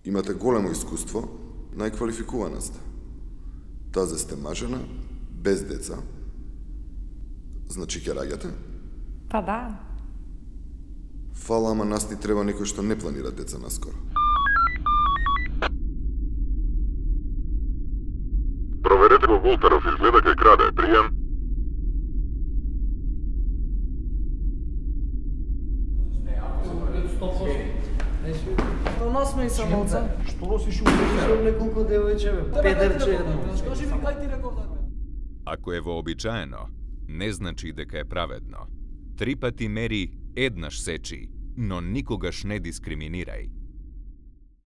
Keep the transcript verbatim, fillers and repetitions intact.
Имате големо искуство, најквалификувана сте. Тазе сте мажена, без деца. Значи ќе раѓате? Па да. Фала, ама нас ни треба некој што не планира деца наскоро. Проверете го Волтеров, изгледа кај краде. Пријем. Тоа нас ме и самоца. Што носиш улица? Што неколку девојче, педерче едно. Скажи ми кај ти реков да. Ако е вообичаено, не значи дека е праведно. Три пати мери, еднаш сечи, но никогаш не дискриминирај.